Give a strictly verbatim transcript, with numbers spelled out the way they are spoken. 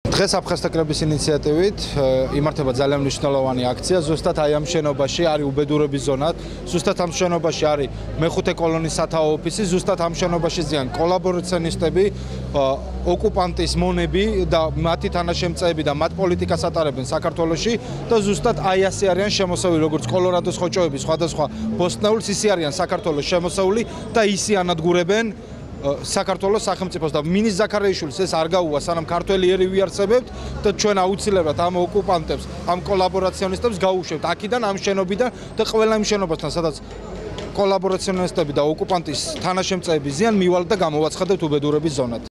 დღეს აფხაზთა კრების ინიციატივით იმართება ძალიან მნიშვნელოვანი აქცია. ზუსტად აი ამ შენობაში არის უბედურების ზონა, ზუსტად ამ შენობაში არის მეხუთე კოლონის სათაო ოფისი, ზუსტად ამ შენობაში ზიან კოლაბორაციონისტები, ოკუპანტის მონები და მათი თანაშემწეები და მათ პოლიტიკას ატარებენ საქართველოში და ზუსტად აი ასე არიან შემოსავალი როგორც კოლორადოს ხოჭოები, სხვადასხვა ბოსტნეულს ისე არიან საქართველოს შემოსავალი და ისე ანადგურებენ საქართველოს სახელმწიფოს და მინის ზაქარიაშვილის ეს არ გაუვა სანამ ქართველი ერი ვიარსებებთ და ჩვენ აუცილებლად ამ ოკუპანტებს, ამ კოლაბორაციონისტებს გაუშვებთ აქედან ამ შენობიდან და ყველა იმ შენობასთან სადაც კოლაბორაციონისტები და ოკუპანტის თანაშემწეები ზიან მივალთ და გამოვაცხადებთ უბედურების ზონად.